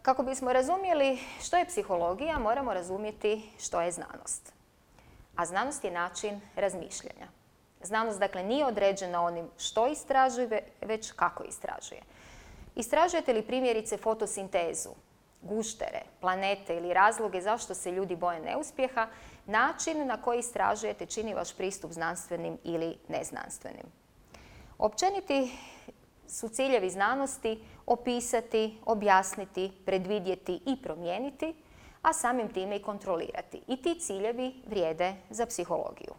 Kako bismo razumjeli što je psihologija, moramo razumjeti što je znanost. A znanost je način razmišljanja. Znanost, dakle, nije određena onim što istražuje, već kako istražuje. Istražujete li primjerice fotosintezu, guštere, planete ili razloge zašto se ljudi boje neuspjeha, način na koji istražujete čini vaš pristup znanstvenim ili neznanstvenim. Općeniti su ciljevi znanosti opisati, objasniti, predvidjeti i promijeniti, a samim time i kontrolirati. I ti ciljevi vrijede za psihologiju.